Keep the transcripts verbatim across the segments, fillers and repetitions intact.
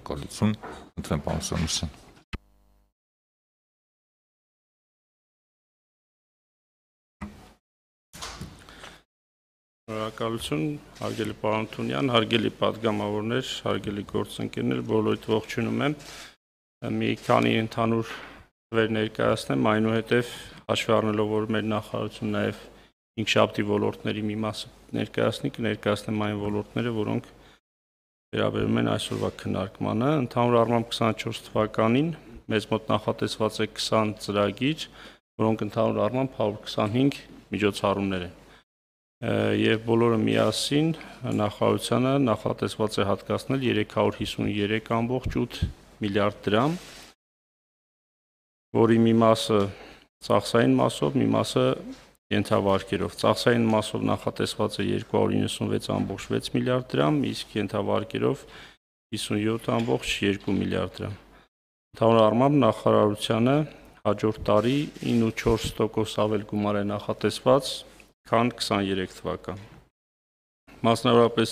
Շնորհակալություն, ընտրեմ պարոն Սարգսյան։ Շնորհակալություն, հարգելի պարոն Թունյան, հարգելի պատգամավորներ, հարգելի գործընկերներ, բոլորիդ ողջունում եմ։ Մի քանի ընդհանուր տվեր ներկայացնեմ, այնուհետև հաշվի առնելով, որ մեր նախարարությունը նաև հինգշաբթի ոլորտների մի մասը ներկայացնի, կներկայացնեմ այն ոլորտները, որոնք վերաբերում են այսօրվա քննարկմանը։ Ընդհանուր առմամբ քսանչորս թվականին մեզ մոտ նախատեսված է քսան ծրագիր, որոնք ընդհանուր առմամբ հարյուր քսանհինգ միջոցառումներ են։ Եվ բոլորը միասին նախարարությանը նախատեսված է հատկացնել երեք հարյուր հիսուներեք ամբողջ ութ միլիարդ դրամ, որի մի մասը ծախսային մասով, մի մասը ենթավարկերով։ Ծախսային մասով նախատեսված է երկու հարյուր իննսունվեց ամբողջ վեց միլիարդ դրամ, իսկ ենթավարկերով հիսունյոթ ամբողջ երկու միլիարդ դրամ։ Ընդհանուր առմամբ նախարարությանը հաջորդ տարի ինը ու չորս տոկոս ավել գումար է նախատեսված, քան քսաներեք թվական։ Մասնավորապես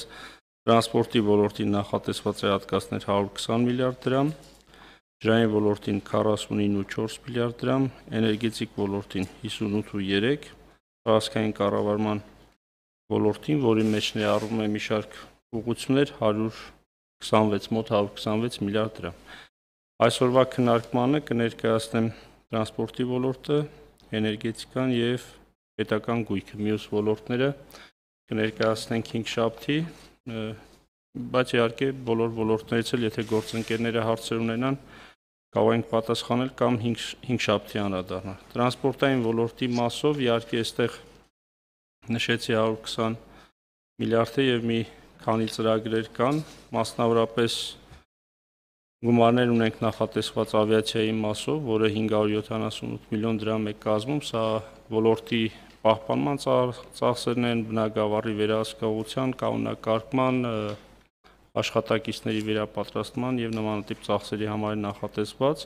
տրանսպորտի ոլորտին նախատեսված է հատկացնել հարյուր քսան միլիարդ դրամ, ջրային ոլորտին քառասունինը ու չորս միլիարդ դրամ, էներգետիկ ոլորտին հիսունութ ու երեք, տարածքային կառավարման ոլորտին, որի մեջ ներառվում է մի շարք ուղղություններ, հարյուր քսանվեց մոտ հարյուր քսանվեց միլիարդ դրամ։ Այսօրվա քննարկմանը կներկայացնեմ տրանսպորտի ոլորտը, էներգետիկան եւ պետական գույքը, մյուս ոլորտները կներկայացնենք հինգշաբթի, բայց իհարկե բոլոր ոլորտներից էլ եթե գործընկերները հարցեր ունենան, կարող ենք պատասխանել կամ հինգշաբթի անդրադառնալ։ Տրանսպորտային ոլորտի մասով իհարկե այստեղ նշեցի հարյուր քսան միլիարդը եւ մի քանի ծրագրեր կան, մասնավորապես գումարներ ունենք նախատեսված ավիացիայի մասով, որը հինգ հարյուր յոթանասունութ միլիոն դրամ է կազմում, սա ոլորտի պահպանման ծախսերն են, բնագավառի վերահսկողության, կանոնակարգման, աշխատակիցների վերապատրաստման եւ նմանատիպ ծախսերի համար է նախատեսված։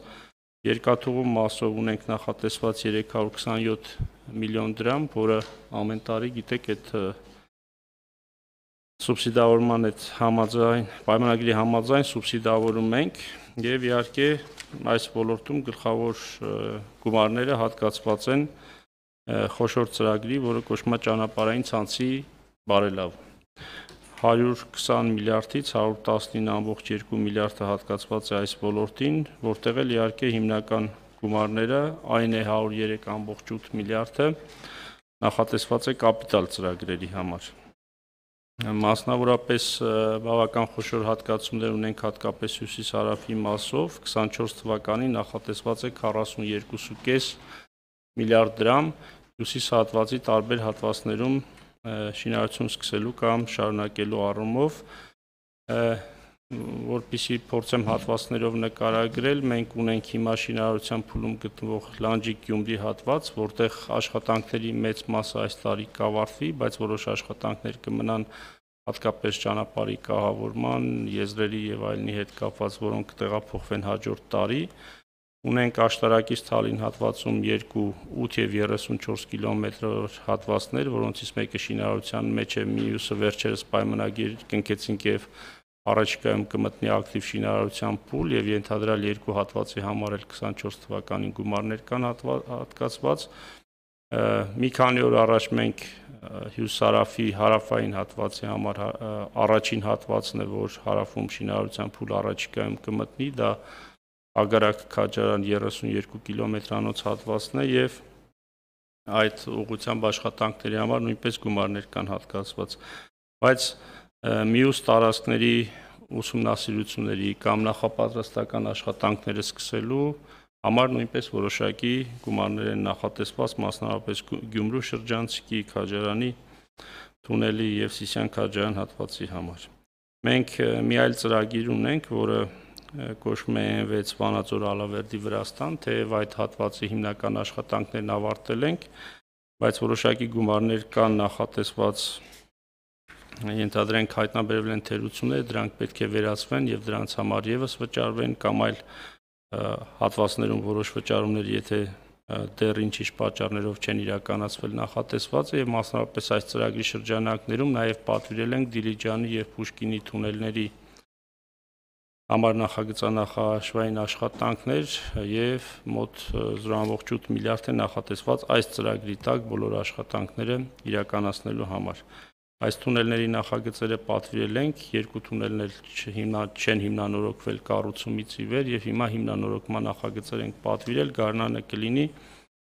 Երկաթուղու մասով ունենք նախատեսված երեք հարյուր քսանյոթ միլիոն դրամ, որը ամեն տարի գիտեք այդ սուբսիդավորման այդ համաձայն պայմանագրի համաձայն սուբսիդավորում ենք եւ իհարկե այս ոլորտում գլխավոր գումարները հատկացված են խոշոր ծրագրի, որը կոչվում է ճանապարհային ցանցի բարելավում։ հարյուր քսան միլիարդից հարյուր տասնինը ամբողջ երկու միլիարդը հատկացված է այս ոլորտին, որտեղ էլ իհարկե հիմնական գումարները այն է հարյուր երեք ամբողջ ութ միլիարդը նախատեսված է կապիտալ ծրագրերի համար։ Մասնավորապես բավական խոշոր հատկացումներ ունենք հատկապես հյուսիս-հարավի մասով, քսանչորս թվականին նախատեսված է քառասունյոթ ու կես միլիարդ դրամ հյուսիս հատվածի տարբեր հատվածներում շինարարություն սկսելու կամ շարունակելու առումով, որպեսզի փորձեմ հատվածներով նկարագրել, մենք ունենք հիմա շինարարության փուլում գտնվող Լանջիկ-Գյումրի հատված, որտեղ աշխատանքների մեծ մասը այս տարի կավարտվի, բայց որոշ աշխատանքներ կմնան հատկապես ճանապարհի կահավորման, եզրերի եւ այլնի հետ կապված, որոնք կտեղափոխվեն հաջորդ տարի։ Ունենք աշտարակից Թալին հատվածում երկու ութ եւ երեսունչորս կիլոմետր հատվածներ, որոնցից մեկը շինարարության մեջ է, մյուսը վերջերս պայմանագիր կնքեցինք եւ առաջիկայում կմտնի ակտիվ շինարարության փուլ եւ ենթադրյալ երկու հատվածի համար էլ քսանչորս թվականին գումարներ կան հատկացված։ Մի քանի օր առաջ մենք հյուսիսարավի հարավային հատվածի համար առաջին հատվածն է, որ հարավում շինարարության փուլ առաջիկայում կմտնի, դա Ագարակ-Քաջարան երեսունյոթ կիլոմետրանոց հատվածն է եւ այդ ուղղությամբ աշխատանքների համար նույնպես գումարներ կան հատկացված, բայց մյուս տարածքների ուսումնասիրությունների կամ նախապատրաստական աշխատանքները սկսելու համար նույնպես որոշակի գումարներ են նախատեսված, մասնավորապես Գյումրու շրջանցիկի, Քաջարանի թունելի եւ Սիսիան-Քաջարան հատվածի համար։ Մենք մի այլ ծրագիր ունենք, որը կոչվում է Էն վեց Վանաձոր-Ալավերդի Վրաստան, թեև այդ հատվածի հիմնական աշխատանքներն ավարտել ենք, բայց որոշակի գումարներ կան նախատեսված, ենթադրենք հայտնաբերվել են թերություններ, դրանք պետք է վերացվեն եւ դրանց համար եւս վճարվեն կամ այլ հատվածներում որոշ վճարումներ, եթե դեռ ինչ-ինչ պատճառներով չեն իրականացվել նախատեսված է եւ մասնավորապես այս ծրագրի շրջանակներում նաեւ պատվիրել ենք Դիլիջանի եւ Պուշկինի թունելների համար նախագծանախաշվային աշխատանքներ եւ մոտ զրո կόμma ութ միլիարդ է նախատեսված այս ծրագրի տակ բոլոր աշխատանքները իրականացնելու համար։ Այս թունելների նախագծերը պատվիրել ենք, երկու թունելներ չեն հիմնանորոգվել կառուցումից ի վեր եւ հիմա հիմնանորոգման նախագծեր ենք պատվիրել, գարնանը կլինի,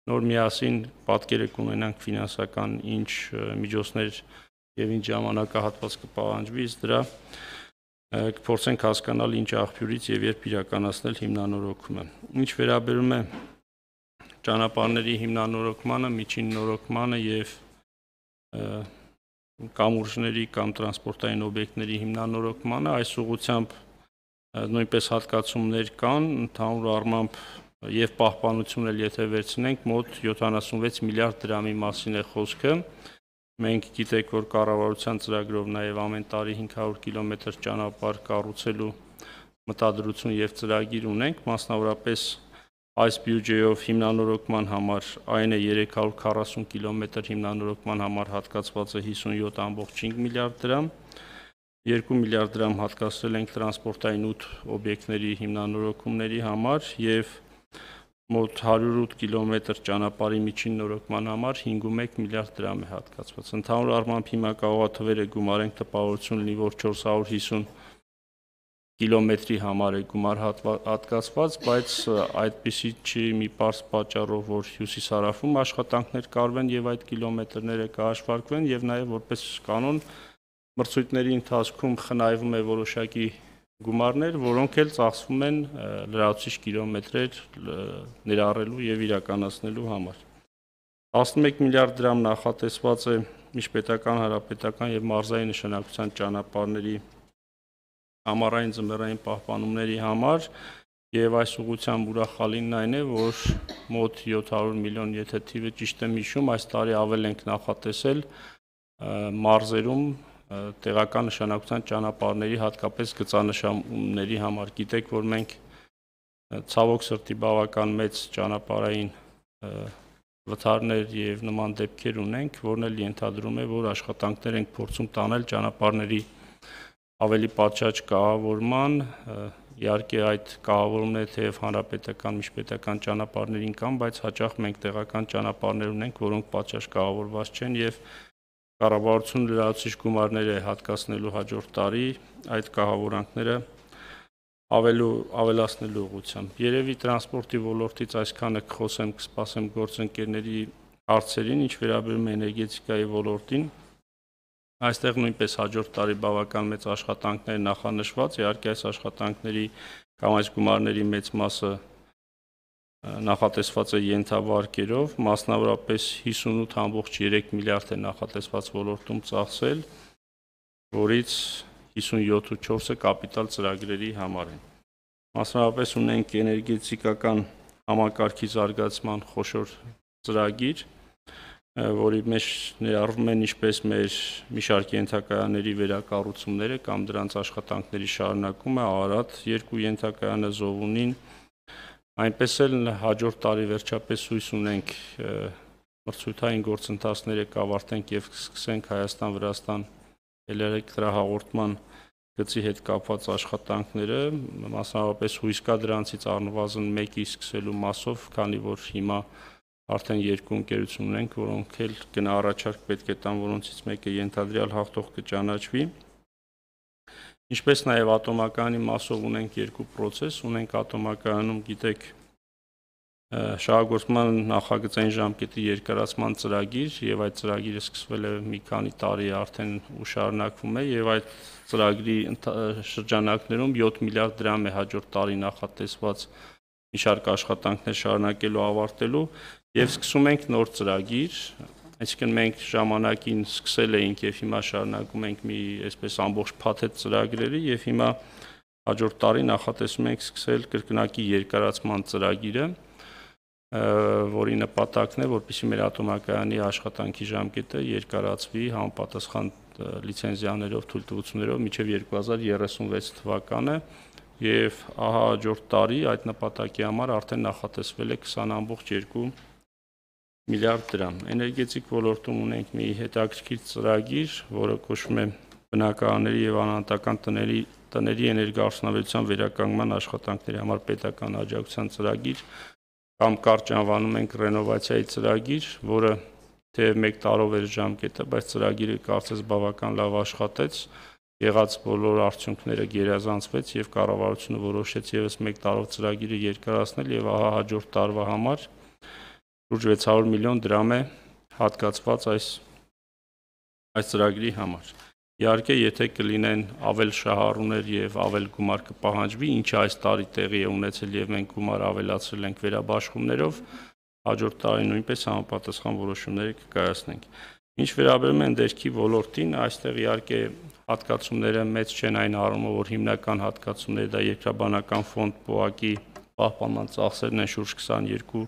նոր միասին պատկերը կունենանք ֆինանսական ինչ միջոցներ եւ ինչ ժամանակահատված կպահանջվի, ըստ դրա կփորձենք հասկանալ ինչ աղբյուրից եւ երբ իրականացնել հիմնանորոգումը։ Ինչ վերաբերում է ճանապարհների հիմնանորոգմանը, միջին նորոգմանը եւ կամուրջների կամ տրանսպորտային օբյեկտների հիմնանորոգմանը, այս ուղղությամբ նույնպես հատկացումներ կան, ընդհանուր առմամբ եւ պահպանություն էլ եթե վերցնենք, մոտ յոթանասունվեց միլիարդ դրամի մասին է խոսքը։ Մենք գիտեք, որ կառավարության ծրագրով նաեւ ամեն տարի հինգ հարյուր կիլոմետր ճանապարհ կառուցելու մտադրություն եւ ծրագիր ունենք, մասնավորապես այս բյուջեով հիմնանորոգման համար այն է երեք հարյուր քառասուն կիլոմետր հիմնանորոգման համար հատկացված է հիսունյոթ կόμma հինգ միլիարդ դրամ, երկու միլիարդ դրամ հատկացրել ենք տրանսպորտային ութ օբյեկտների հիմնանորոգումների համար եւ մոտ հարյուր ութ կիլոմետր ճանապարհի միջին նորոգման համար հինգ կόμma ութ միլիարդ դրամ է հատկացված։ Ընդհանուր առմամբ հիմա կողոաթվերը գումարենք տպավորություն լինի, որ չորս հարյուր հիսուն կիլոմետրի համար է գումար հատկացված, բայց այդպիսի չի մի պարզ պատճառով, որ հյուսիս-հարավում աշխատանքներ կարվեն եւ այդ կիլոմետրները կհաշվարկվեն եւ նաեւ որպես կանոն մրցույթների ընթացքում խնայվում է որոշակի գումարներ, որոնք էլ ծախսվում են լրացուցիչ կիլոմետրեր ներառելու եւ իրականացնելու համար։ տասնմեկ միլիարդ դրամ նախատեսված է միջպետական, հանրապետական եւ մարզային նշանակության ճանապարհների ամառային ձմեռային պահպանումների համար եւ այս ուղղությամբ ուրախալին այն է, որ մոտ յոթ հարյուր միլիոն, եթե թիվը ճիշտ եմ հիշում, այս տարի ավել ենք նախատեսել մարզերում տեղական նշանակության ճանապարհների, հատկապես գծանշանների համար։ Գիտեք, որ մենք ցավոք սրտի բավական մեծ ճանապարհային վթարներ եւ նման դեպքեր ունենք, որն էլ ենթադրում է, որ աշխատանքներ ենք փորձում տանել ճանապարհների ավելի պատշաճ կահավորման, իհարկե այդ կահավորումները թեև հանրապետական, միջպետական ճանապարհներին կան, բայց հաճախ մենք տեղական ճանապարհներ ունենք, որոնք պատշաճ կահավորված չեն եւ կառավարությունը լրացուցիչ գումարներ է հատկացնելու հաջորդ տարի այդ կահավորանքները ավելու ավելացնելու ուղղությամբ։ Երևի տրանսպորտի ոլորտից այսքանը կխոսեմ, կսպասեմ գործընկերների հարցերին, ինչ վերաբերում է էներգետիկայի ոլորտին։ Այստեղ նույնպես հաջորդ տարի բավական մեծ աշխատանքներ նախանշված, իհարկե այս աշխատանքների կամ այս գումարների մեծ մասը նախատեսված է ենթավարկերով, մասնավորապես հիսունութ կόμma երեք միլիարդ է նախատեսված ոլորտում ծախսել, որից հիսունյոթ կόμma չորսը կապիտալ ծրագրերի համար են։ Մասնավորապես ունենք էներգետիկական համակարգի զարգացման խոշոր ծրագիր, որի մեջ ներառվում են ինչպես մեր մի շարք ենթակայանների վերակառուցումները կամ դրանց աշխատանքների շարունակումը, Արարատ երկու ենթակայանը, Զովունին, այնպես էլ հաջորդ տարի վերջապես հույս ունենք մրցույթային գործընթացները կավարտենք եւ սկսենք Հայաստան-Վրաստան էլեկտրահաղորդման գծի հետ կապված աշխատանքները, մասնավորապես հույս կա դրանցից առնվազն մեկի սկսելու մասով, քանի որ հիմա արդեն երկու ընկերություն ունենք, որոնք էլ գնահառաչարկ պետք է տան, որոնցից մեկը ենթադրյալ հաղթող կճանաչվի։ Ինչպես նաև ատոմակայանի մասով ունենք երկու պրոցես, ունենք ատոմակայանում, գիտեք, շահագործման նախագծային ժամկետի երկարացման ծրագիր եւ այդ ծրագիրը սկսվել է մի քանի տարի արդեն ու շարունակվում է եւ այդ ծրագրի շրջանակներում յոթ միլիարդ դրամ է հաջորդ տարի նախատեսված մի շարք աշխատանքներ շարունակելու ավարտելու եւ սկսում ենք նոր ծրագիր, այսինքն մենք ժամանակին սկսել էինք եւ հիմա շարունակում ենք մի այսպես ամբողջ փաթեթ ծրագրերի եւ հիմա հաջորդ տարի նախատեսում ենք սկսել կրկնակի երկարացման ծրագիրը, որի նպատակն է, որպեսզի մեր ատոմակայանի աշխատանքի ժամկետը երկարացվի համապատասխան լիցենզիաներով, թույլտվություններով մինչեւ երկու հազար երեսունվեց թվականը եւ ահա հաջորդ տարի այդ նպատակի համար արդեն նախատեսվել է քսան կόμma երկու միլիարդ դրամ։ Էներգետիկ ոլորտում ունենք մի հետաքրքիր ծրագիր, որը կոչվում է բնակարանների եւ անհատական տների տների էներգոարդյունաբերության վերականգնման աշխատանքների համար պետական աջակցության ծրագիր կամ կարճ անվանում ենք ռենովացիայի ծրագիր, որը թեև մեկ տարով էր ժամկետը, բայց ծրագիրը կարծես բավական լավ աշխատեց, եղած բոլոր արդյունքները գերազանցվեց եւ կառավարությունը որոշեց եւս մեկ տարով ծրագիրը երկարացնել եւ ահա հաջորդ տարվա համար շուրջ վեց հարյուր միլիոն դրամ է հատկացված այս այս ծրագրի համար։ Իհարկե, եթե կլինեն ավել շահառուներ եւ ավել գումար կպահանջվի, ինչը այս տարի տեղի է ունեցել եւ մենք գումար ավելացրել ենք վերաբաշխումներով, հաջորդ տարի նույնպես համապատասխան որոշումներ կկայացնենք։ Ինչ վերաբերում է ներքի ոլորտին, այստեղ իհարկե հատկացումները մեծ չեն այն առումով, որ հիմնական հատկացումները դա երկրաբանական ֆոնդ պոակի պահպանման ծախսերն են շուրջ քսաներկու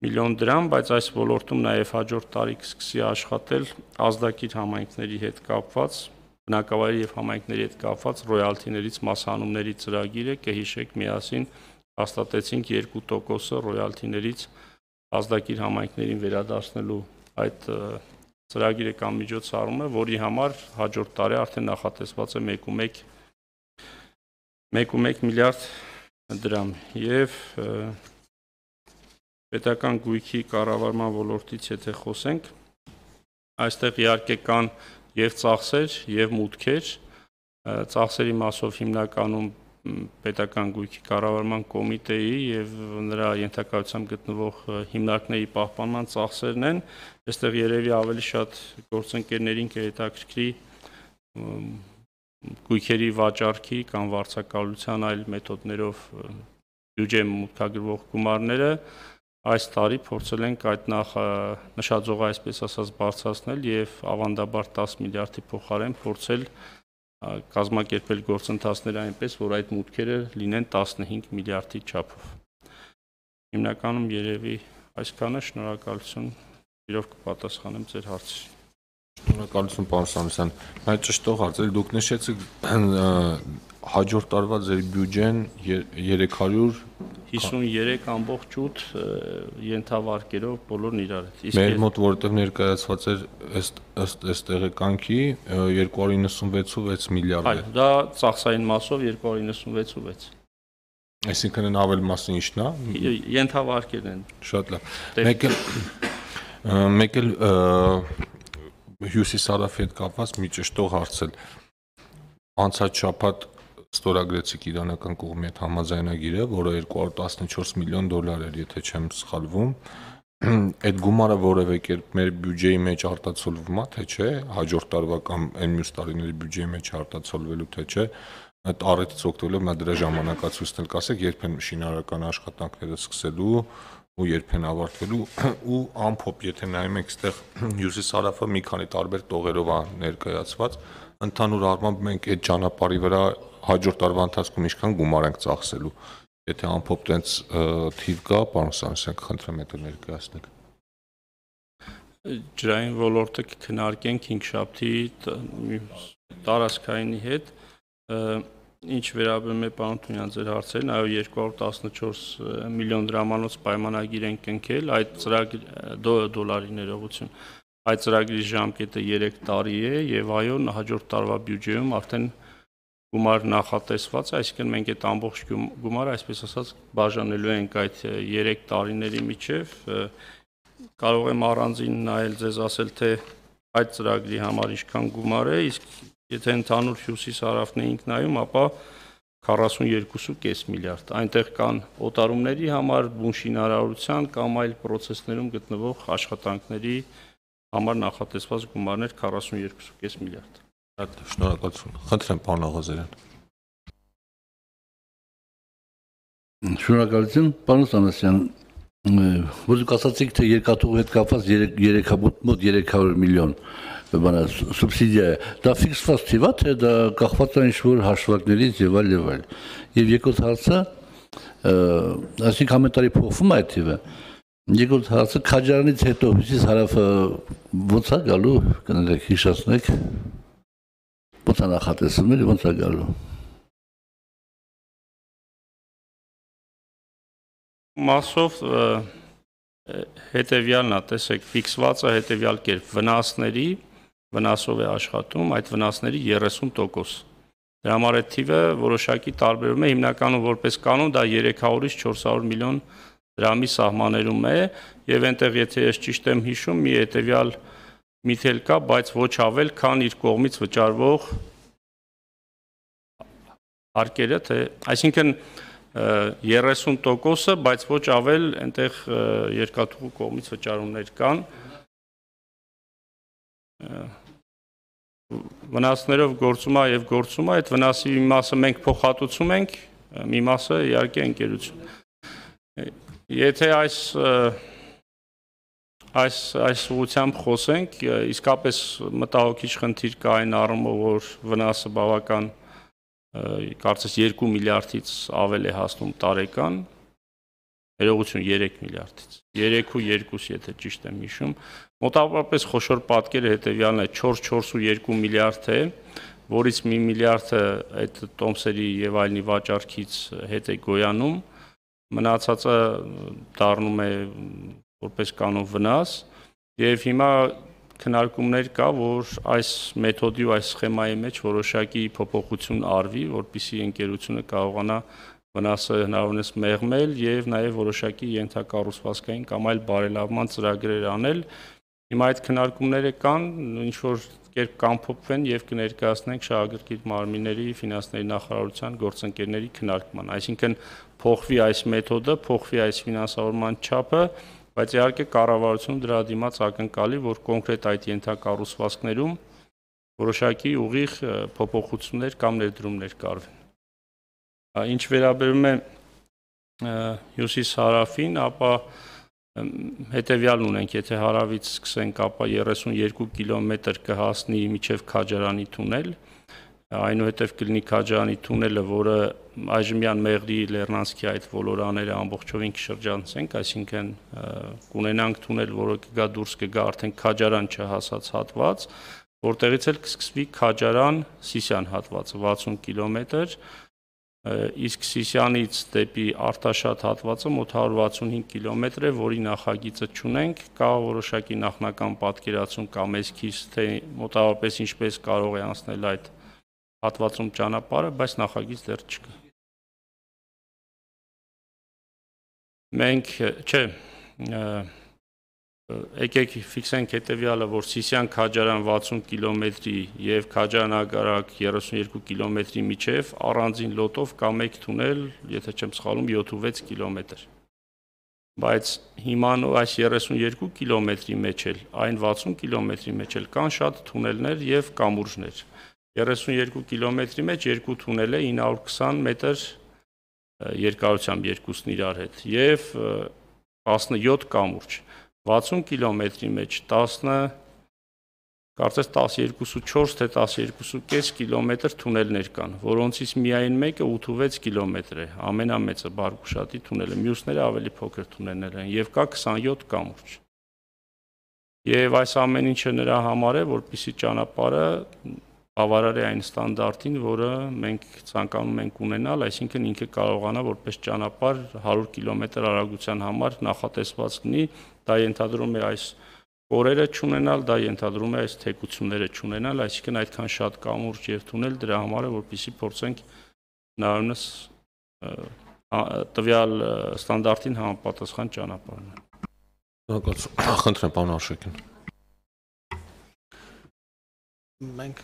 միլիոն դրամ, բայց այս ոլորտում նաև հաջորդ տարի կսկսի աշխատել ազդակիր համայնքների հետ կապված, բնակավայրի եւ համայնքների հետ կապված ռոյալթիներից մասհանումների ծրագիրը, կհիշեք միասին հաստատեցինք երկու տոկոսը ռոյալթիներից ազդակիր համայնքներին վերադարձնելու այդ ծրագիրը կամ միջոցառումը, որի համար հաջորդ տարի արդեն նախատեսված է մեկ ու մեկ միլիարդ դրամ եւ պետական գույքի կառավարման ոլորտից եթե խոսենք, այստեղ իհարկե կան եւ ծախսեր եւ մուտքեր, ծախսերի մասով հիմնականում պետական գույքի կառավարման կոմիտեի եւ նրա ենթակայությամբ գտնվող հիմնարկների պահպանման ծախսերն են, այստեղ երևի ավելի շատ գործընկերներին կհետաքրքրի գույքերի վաճառքի կամ վարձակալության այլ մեթոդներով բյուջե մուտքագրվող գումարները այս տարի փորձել ենք այդ նախ նշաձողը այսպես ասած բարձրացնել եւ ավանդաբար տասը միլիարդի փոխարեն փորձել կազմակերպել գործընթացները այնպես, որ այդ մուտքերը լինեն տասնհինգ միլիարդի չափով։ Հիմնականում երևի այսքանը, շնորհակալություն, իրոք կպատասխանեմ ձեր հարցին։ Շնորհակալություն, պարոն Սամոսյան։ Բայց ճշտող հարց է, դուք նշեցիք հաջորդ տարվա ձեր բյուջեն երեք հարյուր հիսուներեք ամբողջ ութ ենթավարկերով բոլորն իրար հետ։ Մեր մոտ որտեղ ներկայացված էր ըստ ըստ տեղեկանքի երկու հարյուր նվեցունվեց ու վեց միլիարդ է։ Այո, դա ծախսային մասով երկու հարյուր նվեցունվեց ու վեց։ Այսինքն այն ավել մասը ինչն է։ Ենթավարկերն են։ Շատ լավ։ Մեկ էլ մեկ էլ Հյուսիսարավի հետ կապված մի ճշտող հարցել։ Անցած շաբաթ ստորագրեցիք իրանական կողմի հետ համաձայնագիրը, որը երկու հարյուր տասնչորս միլիոն դոլար էր, եթե չեմ սխալվում։ Այդ գումարը որևէ կերպ մեր բյուջեի մեջ արտացոլվում է, թե չէ, հաջորդ տարվա կամ այն մյուս տարիների բյուջեի մեջ արտացոլվելու, թե չէ։ Այդ առիթից օգտվելով նա դրա ժամանակացույցն էլ կասեք, երբ են շինարարական աշխատանքները սկսելու ու երբ են ավարտվելու ու ամփոփ, եթե նայում եք, այստեղ հյուսիս-հարավը մի քանի տարբեր տողերով է ներկայացված, ընդհանուր առմամբ մենք այդ ճանապարհի վրա հաջորդ տարվա ընթացքում ինչքան գումար ենք ծախսելու։ Եթե ամփոփ տենց թիվ կա, պարոն Սամոսյան, կխնդրեմ այդ ներկայացնեք։ Ջրային ոլորտը կքննարկենք հինգշաբթի տարածքայինի հետ։ Ինչ վերաբերում է պարոն Թունյան ձեր հարցերին, այո երկու հարյուր տասնչորս միլիոն դրամանոց պայմանագիր են կնքել, այդ ծրագիր դոլարի ներողություն, այդ ծրագրի ժամկետը երեք տարի է եւ այո հաջորդ տարվա բյուջեում արդեն գումար նախատեսված է, այսինքն մենք այդ ամբողջ գումարը այսպես ասած բաժանելու ենք այդ երեք տարիների միջև, կարող եմ առանձին նայել ձեզ ասել թե այդ ծրագրի համար ինչքան գումար է, իսկ եթե ընդհանուր հյուսիս-հարավն էինք նայում, ապա քառասունյոթ կόμμα պենս միլիարդ։ Այնտեղ կան օտարումների համար, բուն շինարարության կամ այլ պրոցեսներում գտնվող աշխատանքների համար նախատեսված գումարներ քառասունյոթ կόμma պենս միլիարդ։ Շնորհակալություն։ Խնդրեմ, պարոն Աղազարյան։ Շնորհակալություն, պարոն Սամոսյան։ Ոնց ասացիք, թե երկաթուղու հետ կապված մոտ երեք հարյուր միլիոն բանա սուբսիդիա է, դա ֆիքսված թիվ է, թե դա կախված է ինչ-որ հաշվարկներից եւ այլ եւ այլ։ Եվ երկրորդ հարցը, այսինքն ամեն տարի փոխվում է այդ թիվը։ Երկրորդ հարցը Քաջարանից հետո հյուսիս-հարավը ո՞նց է գալու, կներեք, հիշեցնեք։ Ո՞նց է նախատեսվում եւ ո՞նց է գալու։ Մասով հետևյալն է, տեսեք, ֆիքսված է հետևյալ կերպ վնասների վնասով է աշխատում, այդ վնասների երեսուն տոկոս։ Դրա համար այդ թիվը որոշակի տարբերում է, հիմնականում որպես կանոն դա երեք հարյուրից չորս հարյուր միլիոն դրամի սահմաններում է, եւ այնտեղ եթե ես ճիշտ եմ հիշում, մի հետեւյալ միթել կա, բայց ոչ ավել, քան իր կողմից վճարվող հարկերը, թե այսինքն երեսուն տոկոսը, բայց ոչ ավել այնտեղ երկաթուղու կողմից վճարումներ կան։ Վնասներով գործում է եւ գործում է, այդ վնասի մի մասը մենք փոխհատուցում ենք, մի մասը իհարկե ընկերություն։ Եթե այս այս այս ուղղությամբ խոսենք, իսկապես մտահոգիչ խնդիր կա այն առումով, որ վնասը բավական կարծես երկու միլիարդից ավել է հասնում տարեկան, ներողություն երեք միլիարդից, երեք ու երկուս, եթե ճիշտ եմ հիշում, մոտավորապես խոշոր պատկերը հետևյալն է, չորս ու երկու միլիարդ է, որից մի միլիարդը այդ տոմսերի եւ այլնի վաճառքից հետ է գոյանում, մնացածը դառնում է որպես կանոն վնաս, եւ հիմա քննարկումներ կա, որ այս մեթոդի ու այս սխեմայի մեջ որոշակի փոփոխություն արվի, որպեսզի ընկերությունը կարողանա վնասը հնարավորինս մեղմել եւ նաեւ որոշակի ենթակառուցվածքային կամ այլ բարելավման ծրագրեր անել։ Հիմա այդ քննարկումները կան, ինչ որ կերպ կամփոփվեն եւ կներկայացնենք շահագրգիռ մարմինների ֆինանսների նախարարության գործընկերների քննարկման։ Այսինքն փոխվի այս մեթոդը, փոխվի այս ֆինանսավորման չափը, բայց իհարկե կառավարությունը դրա դիմաց ակնկալի, որ կոնկրետ այդ ենթակառուցվածքներում որոշակի ուղիղ փոփոխություններ կամ ներդրումներ կարվեն։ Ինչ վերաբերում է հյուսիս-հարավին, ապա հետևյալն ունենք, եթե հարավից սկսենք, ապա երեսուն երկու կիլոմետր կհասնի մինչև Քաջարանի թունել, այնուհետև կլինի Քաջարանի թունելը, որը այժմյան Մեղրի Լեռնանցքի այդ ոլորաները ամբողջովին կշրջանցենք, այսինքն կունենանք թունել, որը կգա դուրս կգա արդեն Քաջարան չհասած հատված, որտեղից էլ կսկսվի Քաջարան-Սիսիան հատվածը վաթսուն կիլոմետր, իսկ Սիսիանից դեպի Արտաշատ հատվածը մոտ հարյուր վաթսունհինգ կիլոմետր է, որի նախագիծը չունենք, կա որոշակի նախնական պատկերացում կամ էսքիզ, թե մոտավորապես ինչպես կարող է անցնել այդ հատվածում ճանապարհը, բայց նախագիծ դեռ չկա։ Մենք, չէ, եկեք ֆիքսենք հետևյալը, որ Սիսիան-Քաջարան վաթսուն կիլոմետրի եւ Քաջարան-Ագարակ երեսուն երկու կիլոմետրի միջև առանձին լոտով կա մեկ թունել, եթե չեմ սխալվում, յոթ ու վեց կիլոմետր։ Բայց հիմա այս երեսուն երկու կիլոմետրի մեջ էլ, այն վաթսուն կիլոմետրի մեջ էլ կան շատ թունելներ եւ կամուրջներ։ երեսուն երկու կիլոմետրի մեջ երկու թունել է ինը հարյուր քսան մետր երկարությամբ երկուսն իրար հետ եւ տասնյոթ կամուրջ։ վաթսուն կիլոմետրի մեջ տասը կարծես տասներկու ու չորս թե տասներկու ու կես կիլոմետր թունելներ կան, որոնցից միայն մեկը ութ ու վեց կիլոմետր է, ամենամեծը Բարգուշատի թունելը, մյուսները ավելի փոքր թունելներ են եւ կա քսանյոթ կամուրջ։ Եվ այս ամեն ինչը նրա համար է, որպեսզի ճանապարհը բավարար է այն ստանդարտին, որը մենք ցանկանում ենք ունենալ, այսինքն ինքը կարողանա որպես ճանապարհ հարյուր կիլոմետր արագության համար նախատեսված լինի, դա ենթադրում է այս կորերը չունենալ, դա ենթադրում է այս թեկությունները չունենալ, այսինքն այդքան շատ կամուրջ եւ թունել դրա համար է, որպեսզի փորձենք հնարավորինս տվյալ ստանդարտին համապատասխան ճանապարհն։ Խնդրեմ, պարոն Արշակյան։ Մենք